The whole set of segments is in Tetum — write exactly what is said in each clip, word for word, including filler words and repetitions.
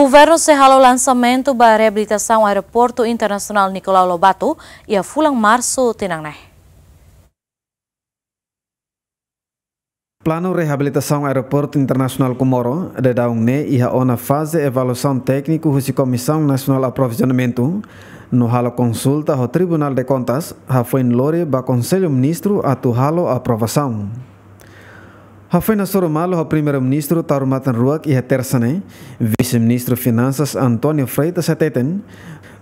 Governu sei halo lansamentu ba reabilitasaun Aeroportu Internasionál Nicolau Lobato iha fulan Marsu tinan ne'e. Planu reabilitasaun Aeroportu Internasionál Comoro daudaun ne'e iha ona faze avaliasaun tékniku husi Komisaun Nasionál Aprovizionamentu, no halo konsulta ho Tribunál de Kontas, hafoin lori ba Konsellu Ministru atu halo aprovasaun. Hafoin hasoru malu ho Primeiru-Ministru taur matan-ruak iha Tersa ne'e, Vise-Ministru Finansas António Freitas hateten,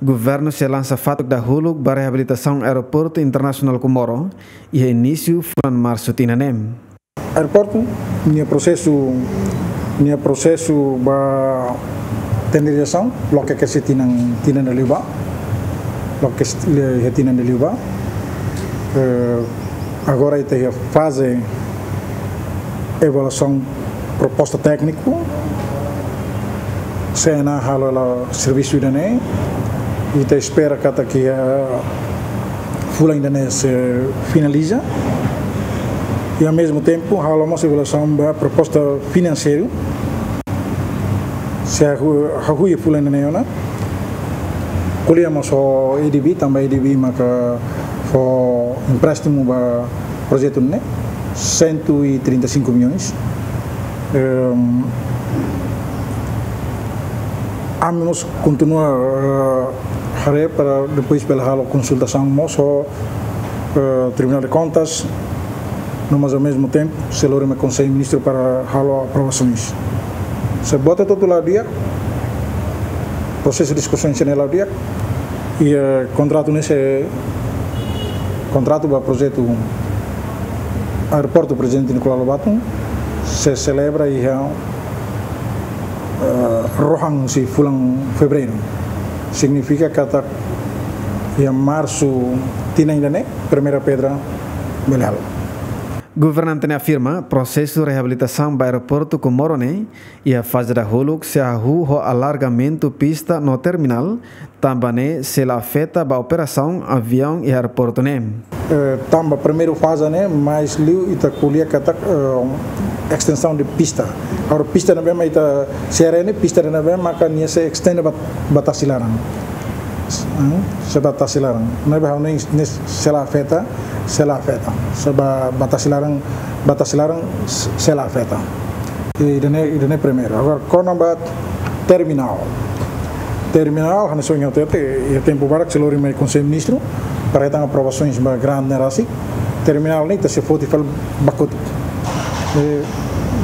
Governu sei lansa fatuk dahuluk ba reabilitasaun Aeroportu Internasionál Comoro iha inísiu fulan Marsu tinan ne'e. Aeroportu, nia prosesu, nia prosesu ba tenderizasaun, loke ke se tinan, tinan ida liubá, loke se le-, tinan ida liubá. Eh, agora ita iha faze avaliasaun proposta tékniku, CNA halo hela servisu ida-ne'e, ita espera katak iha fulan ida-ne'e sei finaliza. I, ao mesmo tempo, halo mós avaliasaun ba proposta finanseiru. Sei hahú, hahú iha fulan ida-ne'e ona. Ko'alia mós ho ADB, tanba ADB maka fó empréstimu ba projetu ne'e, cento e trinta e cinco milhões. Ehm, ami mós kontinua, eh, haree para depois bele halo konsultasaun mós ho, eh, Tribunál de Kontas, no mas ao mesmo tempo sei lori mai Konsellu Ministru para halo aprovasaun. Sei bota hotu la'o di'ak, prosesu diskusaun sira-ne'e la'o di'ak, i, eh, kontratu ne'e sei, kontratu ba projetu Aeroportu Prezidente Nicolau Lobato sei selebra iha, eh, rohan husi fulan Fevereiru. Signifika katak iha Marsu tinan ida-ne'e, primeira pedra bele halo. Governante ne'e afirma, prosesu reabilitasaun ba Aeroportu Comoro ne'e iha faze dahuluk sei hahú ho alargamentu pista no terminál, tanba ne'e sei la afeta ba operasaun aviaun iha aeroportu ne'e. Eh, tanba primeiru faze ne'e, mais liu ita ko'alia katak, eh, estensaun de pista. Agora pista ne'ebé mak ita sera ne'e, pista ne'ebé maka nia sei estende ba, ba tasi laran. Hmm? Sei ba tasi laran. Ne'ebé ha'u hanoin ne'e sei la afeta, sei la afeta. Sei ba, ba tasi laran, ba tasi laran, sei la afeta. I ida-ne'e, ida-ne'e primeiru. Agora, kona-ba terminál. Terminál, hanesan ohin ha'u hatete, iha tempu badak sei lori mai Konsellu Ministru, para hetan aprovasaun ba grant ne'e rasik. Terminál ne'e ita sei foti fali ba kotuk. Eh,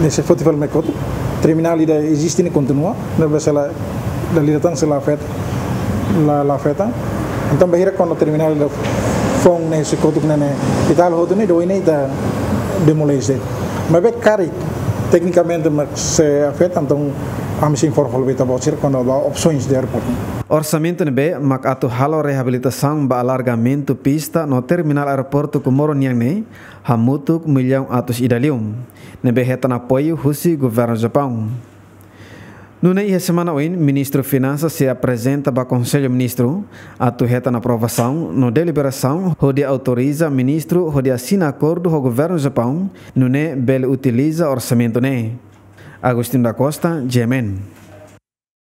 ne'e sei foti fali mai kotuk. Terminál ida eziste ne'e kontinua, ne'ebé sei la, dala ida tan sei la afeta, la, la afeta. Entaun, bainhira kona terminál ida foun ne'e sei kotuk ne'e, ne'e, ita halo hotu ne'e, depois ne'e ita demolese. Maibé karik teknikamente mak sei afeta, entaun ami sei informa fali ba ita-boot sira kona-ba opsaun de aeroportu. Orsamentu ne'ebé mak atu halo reabilitasaun ba alargamentu pista no terminál Aeroportu Comoro nian ne'e hamutuk millaun atus ida liu, ne'ebé hetan apoiu husi Governu Japaun. Nune'e iha semana oin, Ministru Finansas sei aprezenta ba Konsellu Ministru atu hetan aprovasaun no deliberasaun hodi autoriza Ministru hodi asina akordu ho Governu Japaun, nune'e bele utiliza orsamentu ne'e. Agostinho da Costa, G M N.